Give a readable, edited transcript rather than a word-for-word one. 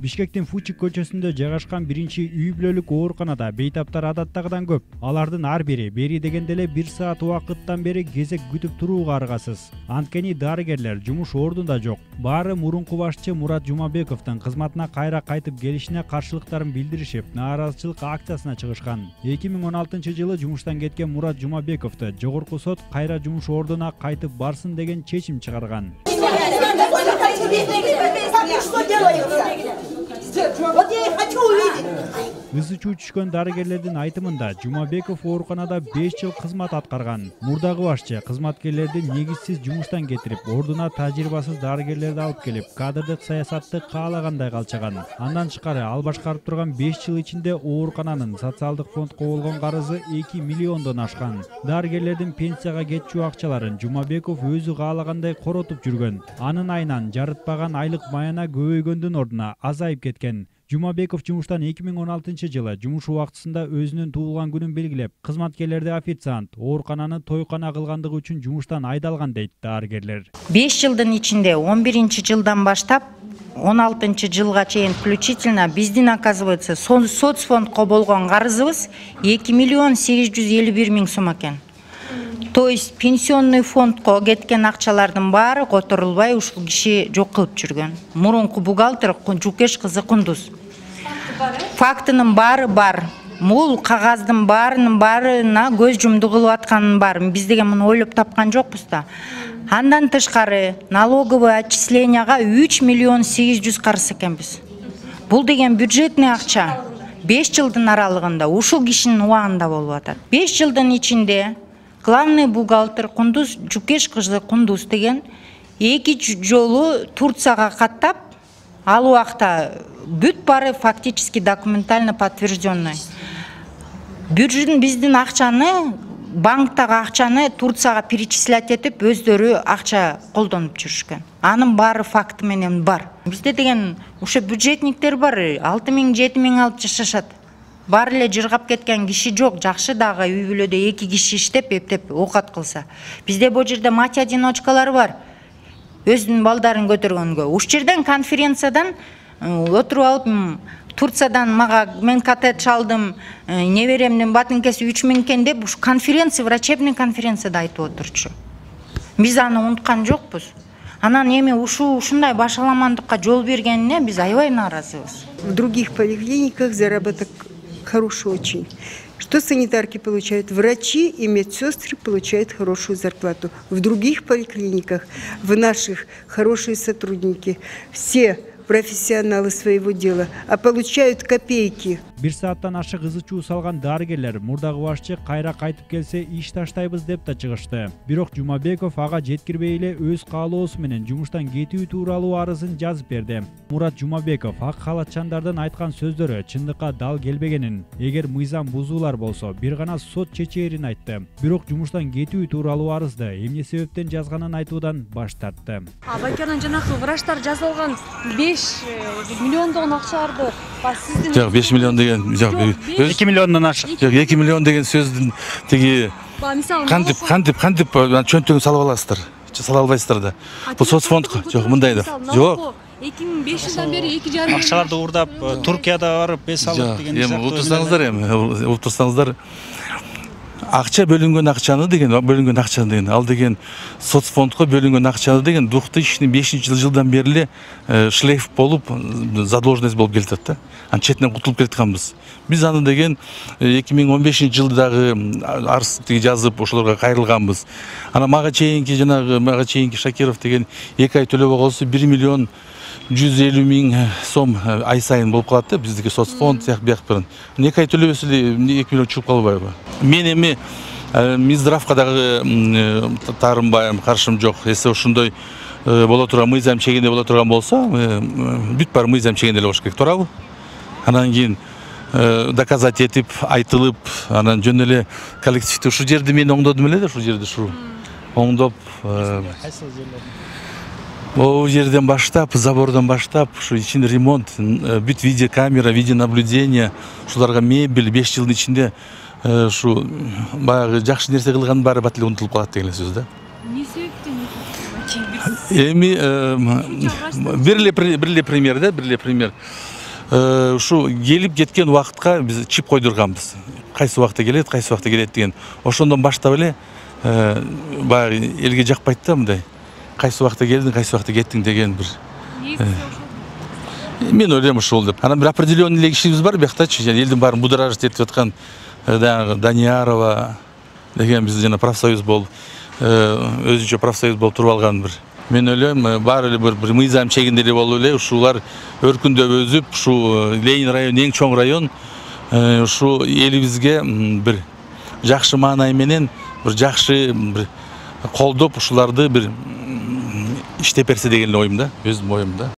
Бишкектин Фучик көчөсүндө жайгашкан биринчи үй бүлөлүк ооруканада бейтаптар адаттагыдан көп. Алардын ар бири бери дегенде эле 1 саат убакыттан бери кезек күтүп турууга аргасыз. Анткени дарыгерлер жумуш ордунда жок. Баары мурунку башчы Мурат Жумабековдун кызматына кайра кайтып келишине каршылыктарын билдиришип, нааразычылык акциясына чыгышкан. 2016-жылы жумуштан кеткен Мурат Жумабековду жогорку сот кайра жумуш ордуна кайтып барсын деген чечим чыгарган. Вот я и хочу увидеть. Ызы чуу түшкөн дарыгерлердин айтымында Жумабеков ооруканада 5 жыл кызмат аткарган. Мурдагы башчы кызматкерлерди негизсиз жумуштан кетирип, ордуна тажрыйбасыз дарыгерлерди алып келип, кадрдык саясатты каалагандай калчаган. Андан тышкары ал башкарып турган 5 жыл ичинде оорукананын социалдык фондко болгон карызы 2 миллиондон ашкан. Дарыгерлердин пенсияга кетчү акчаларын Жумабеков өзү каалагандай коротуп жүргөн. Анын айынан жарытпаган айлык маяна көбөйгөндүн ордуна азайып кеткен. Жумабеков жумуштан 2016-жылы жумуш убактысында өзүнүн туулган күнүн белгилеп, кызматкерлерди официант, оорукананы тойкана кылгандыгы үчүн жумуштан айдалган дейт дарыгерлер. 5 жылдын ичинде 11-жылдан баштап 16-жылга чейин включительно биздин, оказывается, соцфондко болгон карызыбыз 2 миллион 851 миң сом экен. То есть пенсионный фондко кеткен акчалардын баары которулбай ушул киши жок кылып жүргөн. Мурунку бухгалтер Жукеш кызы Кундуз. Фактынын баары бар. Бул кагаздын баарына көз жумду кылып атканын бар. Биз деген муну ойлоп тапкан жокпуз да. Андан тышкары налоговый отчисленияга 3 миллион 800 карыз экенбиз. Бул деген бюджетный акча 5 жылдын аралыгында ушул кишинин убагында болуп атат. 5 жылдын ичинде главный бухгалтер Кундуз Жукеш кызы Кундуз деген 2 жолу Турцияга каттап, ал убакта бүт баары фактически документально подтвержденный. Биздин акчаны, банктагы акчаны Турцияга перечислять этип, өздөрү акча колдонуп жүрүшкөн. Анын баары факты менен бар. Бизде деген ушу бюджетниктер бар, 6 миң 7 миң алып жашашат. Бар эле жыргап кеткен киши жок, жакшы дагы үй бүлөдө 2 киши иштеп, эптеп оокат кылса. Бизде бул жерде мать-одиночкалар бар. Өзүнүн балдарын көтөргөнгө. Уш жерден конференциядан отуруп алып, Турциядан мен катет чалдым, неберемдин батынкеси 3 миң экен деп, уш конференция, врачебный конференцияда айтып отурчу. Биз аны унуткан жокпуз. Анан эми ушундай башаламандыкка жол бергенине биз аябай нааразыбыз. В других поликлиниках заработок хороший очень. Что санитарки получают? Врачи и медсестры получают хорошую зарплату. В других поликлиниках, в наших, хорошие сотрудники. Все профессионалы своего дела, а получают копейки. 1 сааттан ашык ызы чуу салган дарыгерлер мурдагы башчы кайра кайтып келсе иш таштайбыз деп да чыгышты. Бирок Жумабеков ага жеткирбей эле өз каалоосу менен жумуштан кетүү тууралуу арызын жазып берди. Мурат Жумабеков ак халатчандардын айткан сөздөрү чындыкка дал келбегенин, эгер мыйзам бузуулар болсо бир гана сот чечээрин айтты. Бирок жумуштан кетүү тууралуу арызды эмне себептен жазганын айтуудан баш тартты. Байкерден жанакы врачтар жазып алган 5 миллиондогон акчаларды сиздин 5 миллион деген 2 миллиондон ашык. 2 миллион деген сөздүн тиги кантип чөнтөгүн салып аласыздар. Сала албайсыздар да. Бул соцфондко жок мындай да. Жок. 2005 жылдан бери 2,5 акчаларды уурдап Туркияда барып эс алып деген эми утурсаңыздар акча бөлүнгөн акчаны деген ал деген соцфондко бөлүнгөн акчаны деген 2005-жылдан бери шлейф болуп задолженность болуп келатат да. Анын четинен кутулуп келатканбыз. Биз аны деген 2015-жылдагы арыз жазып ошолорго кайрылганбыз. Ана мага чейинки Шакиров деген 2 ай төлөбөй калса 1 миллион 150 миң сом ай сайын болуп калат да, биздики соцфонд бияк бирин. 2 ай төлөбөсө 2 миллион чыгып калбайбы? Мен эми Минздравга дагы таарынбайм, каршым жок. Эсе ошондой боло турган, мыйзам чегинде боло турган болсо, бүт бар мыйзам чегинде эле болуш керек, туурабы? Анан кийин доказать этип, айтылып, анан жөн эле коллективде ушул жерди мен оңдодум эле да, ушул жерди оңдоп О жерден баштап, забордан баштап, ушу ичинде ремонт, бүт видеокамера, видеонаблюдение, ушуларга мебель 5 жылдын ичинде ушу баягы жакшы нерсе кылгандын баары бат эле унутулуп калат деген сөз да. Эмне себептен? Эми бир эле пример да, бир эле пример. Ушу келип кеткен убакытка биз чип койдурганбыз. Кайсы убакта келет, кайсы убакта келет деген. Ошондон баштап эле баягы элге жакпайт да мындай. Кайсы убакта келдиң, кайсы убакта кеттиң деген бир. Мен ойлойм ушул деп. Анан бир определенный эле кишибиз бар бияктачы, элдин баарын будоражить этип аткан Даниярова деген биз жана профсоюз болуп, өзүнчө профсоюз болуп туруп алган бир. Мен ойлойм, баары эле бир мыйзам чегинде эле болуп эле ушулар өркүндөп өзүп, ушу Ленин району эң чоң район, ушу элибизге бир жакшы маанай менен, бир жакшы бир колдоп ушуларды бир иштеп берсе деген эле оюм да, өзүмдүн оюм да.